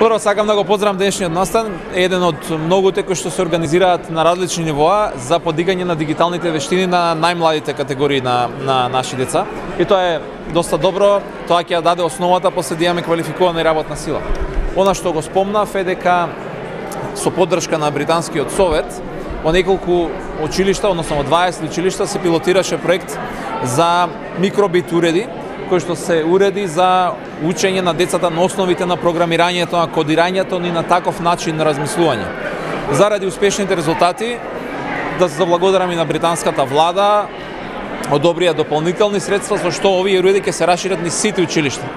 Прво сакам да го поздравам денешниот настан, еден од многуте кои што се организираат на различни нивоа за подигање на дигиталните вештини на најмладите категории на наши деца. И тоа е доста добро, тоа ќе ја даде основата после да имаме квалификувана работна сила. Она што го спомнав е дека со поддршка на британскиот совет во неколку училишта, односно во 20 училишта се пилотираше проект за микробит уреди, кои што се уреди за учење на децата на основите на програмирањето, на кодирањето и на таков начин на размислување. Заради успешните резултати, да се заблагодарам и на британската влада, одобрија дополнителни средства со што овие уреди ќе се расшират низ сите училишта.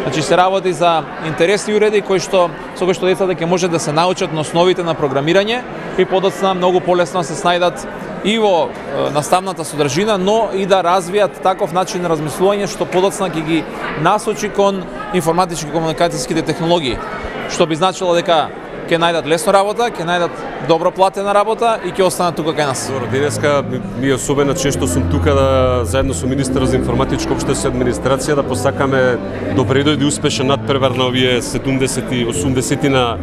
Значи се работи за интересни уреди со кои што децата ќе може да се научат на основите на програмирање и подоцна многу полесно се снајдат и во наставната содржина, но и да развијат таков начин на размислување што подоцна ќе ги насочи кон информатички комуникацијските технологии, што би значило дека ќе најдат лесно работа, ќе најдат добро платена работа и ќе останат тука кај нас. Добро, денеска ми е особено често сум тука да заедно со министерот за информатичко општество и администрација да посакаме добре дојде успешен надпревар на овие 70 и 80 на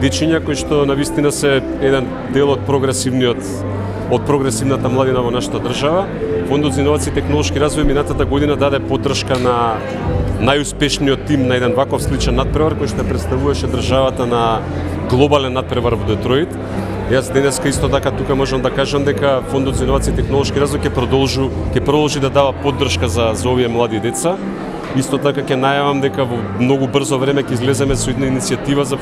дечиња кои што навистина се еден дел од прогресивната младина во нашата држава. Фондот за иновации и технолошки развој минатата година даде поддршка на најуспешниот тим на еден ваков сличен надпревар кој што представуваше државата на глобален надпревар во Детройт. Јас денеска исто така тука можам да кажам дека Фондот за иновации и технолошки развој ќе продолжи да дава поддршка за овие млади деца. Исто така ќе најавам дека во многу брзо време ќе излеземе со една иницијатива за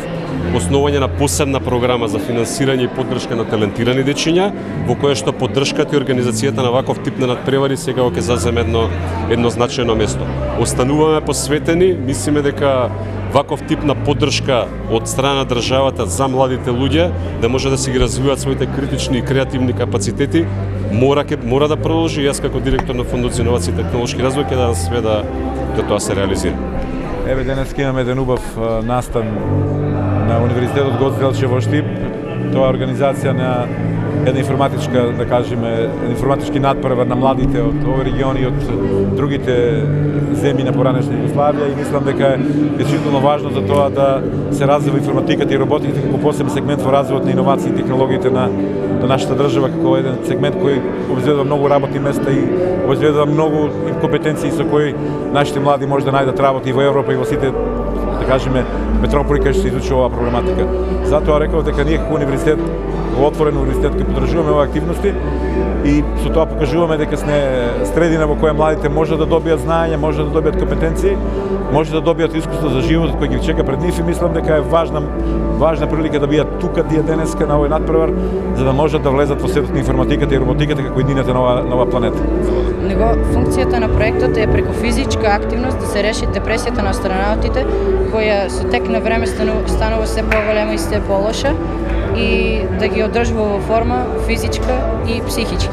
основање на посебна програма за финансирање и поддршка на талентирани дечиња, во која што поддршката и организацијата на ваков тип на надпревари сега ќе заземе едно значајно место. Остануваме посветени, мислиме дека ваков тип на поддршка од страна на државата за младите луѓе да може да си ги развиваат своите критични и креативни капацитети, мора да продолжи. Јас како директор на Фондот за иновации и технолошки развој ќе дадам све да тоа се реализира. Еве денес имаме еден убав настан на Универзитетот Гоце Делчев во Штип. Тоа е организација на една информатичка, да кажеме, информатички надпревар на младите од овој регион и од другите земји на поранешна Југославија и мислам дека е действително важно за тоа да се развива информатиката и роботиката како посебен сегмент во развојот на иновации и технологиите на нашата држава, како еден сегмент кој обезбедува многу работни места и обезбедува многу компетенции со кои нашите млади може да најдат работа и во Европа и во сите, да кажеме, метрополи кај што се изучува оваа проблематика. Затоа реков дека ние како универзитет, во отворен универзитет, ќе поддржуваме оваа активности и со тоа покажуваме дека сме средина во која младите може да добијат знаење, може да добијат компетенции, може да добијат искуство за животот кој ги чека пред нив и мислам дека е важна прилика да бидат тука тие денеска на овој надпревар за да можат да влезат во светот на информатиката и роботиката како едината на оваа планета. Него функцијата на проектот е преку физичка активност да се реши депресијата на астронавтите, која со тек на време станува се поголема и се полоша и да ги одржува во форма физичка и психички.